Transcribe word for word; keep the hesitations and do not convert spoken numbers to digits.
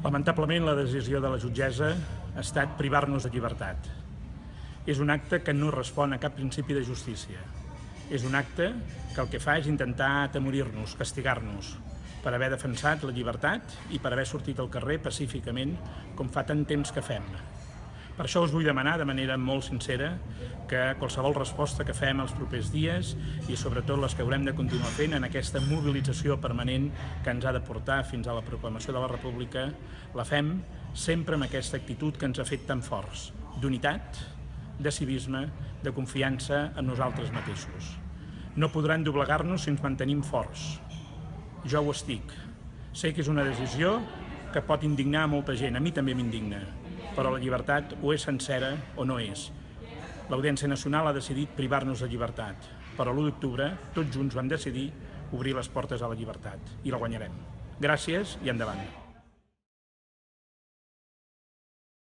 Lamentablement, la decisió de la jutgessa ha estat privar-nos de llibertat. És un acte que no respon a cap principi de justícia. És un acte que el que fa és intentar atemorir-nos, castigar-nos, per haver defensat la llibertat i per haver sortit al carrer pacíficament, com fa tant temps que fem. Per això us vull demanar de manera molt sincera que qualsevol resposta que fem els propers dies i sobretot les que haurem de continuar fent en aquesta mobilització permanent que ens ha de portar fins a la proclamació de la República, la fem sempre amb aquesta actitud que ens ha fet tan forts, d'unitat, de civisme, de confiança en nosaltres mateixos. No podran doblegar-nos si ens mantenim forts. Jo ho estic. Sé que és una decisió que pot indignar a molta gent, a mi també m'indigna, però la llibertat o és sencera o no és. L'Audiència Nacional ha decidit privar-nos de llibertat, però l'u d'octubre tots junts vam decidir obrir les portes a la llibertat i la guanyarem. Gràcies i endavant.